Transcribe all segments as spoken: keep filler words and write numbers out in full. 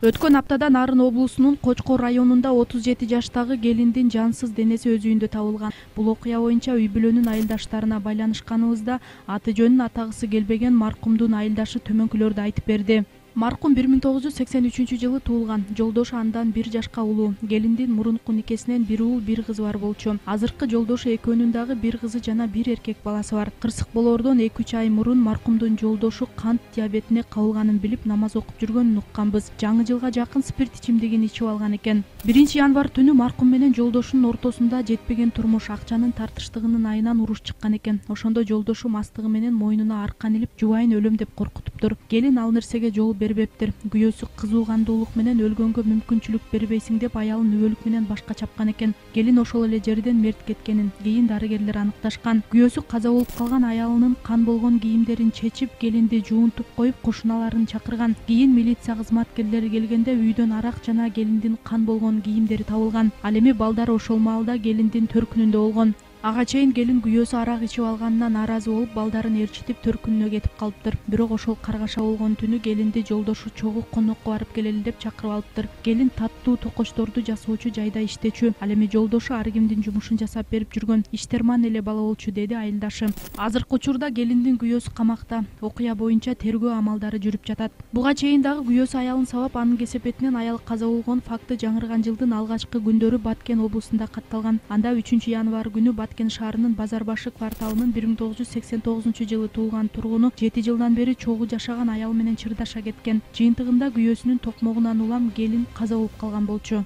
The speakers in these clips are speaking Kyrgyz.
Өткөн аптада Нарын облусунун Кочкор районунда отуз жети жаштагы келиндин жансыз денеси өз үйүндө табылган. Бул окуя боюнча үй бүлөнүн айылдаштарына байланышканыбызда аты жөнүн атагысы келбеген маркумдун айылдашы төмөнкүлөрдү айтып берди. Маркум бир миң тогуз жүз сексен үчүнчү жылы туулган. Жолдошу андан бир жашка улуу. Келиндин мурунку никесинен бир уул, бир кызы бар болчу. Азыркы жолдошу экөөнүн дагы бир кызы жана бир эркек баласы бар. Кырсык болоордон эки үч ай мурун маркумдун жолдошу кант диабетине кабылганын билип намаз окуп жүргөнүн укканбыз. Жаңы жылга жакын спирт ичимдигин ичип алган экен. биринчи январь түнү маркум менен жолдошунун ортосунда жетпеген турмуш, акчанын тартыштыгынын айынан уруш чыккан экен. Ошондо жолдошу мастыгы менен мойнуна аркан илип, жубайын өлөм деп коркутуптур. Келин ал нерсеге жол бербептир. Күйөөсү кызуу кандуулук менен өлгөнгө мүмкүнчүлүк бербейсиң деп аялын өбөлүк менен башка чапкан экен. Келин ошол эле жерден мерт кеткенин кийин дарыгерлер аныкташкан. Күйөөсү каза болуп калган аялынын кан болгон кийимдерин чечип, келинди жуунтуп коюп, кошуналарын чакырган. Кийин милиция кызматкерлери келгенде үйдөн арак жана келиндин кан болгон кийимдери табылган. Ал эми балдары ошол маалда келиндин төркүнүндө болгон. Ага чейин келин күйөөсү арак ичип алганынан нааразы болуп, балдарын ээрчитип төркүнүнө кетип калыптыр. Бирок ошол каргаша болгон түнү келинди жолдошу чогуу конокко барып келели деп чакырып алыптыр. Келин таттуу токочторду жасоочу жайда иштечү. Ал эми жолдошу ар кимдин жумушун жасап берип жүргөн. Иштерман эле бала болчу, деди айылдашы. Азыркы учурда келиндин күйөөсү камакта. Окуя боюнча тергөө амалдары жүрүп жатат. Буга чейин дагы күйөөсү аялын сабап, анын кесепетинен аял каза болгон факты жаңырган жылдын алгачкы күндөрү Баткен облусунда катталган. Анда үчүнчү январь күнү Баткен шаарынын Базар башы кварталынын бир миң тогуз жүз сексен тогузунчу жылы туулган тургуну жети жылдан бери чогуу жашаган аял менен чырдаша кеткен. Жыйынтыгында күйөөсүнүн токмогунан улам келин каза болуп калган болчу.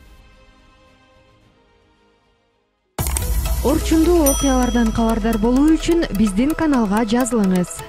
Орчундуу окуялардан кабардар болуу үчүн биздин каналга жазылыңыз.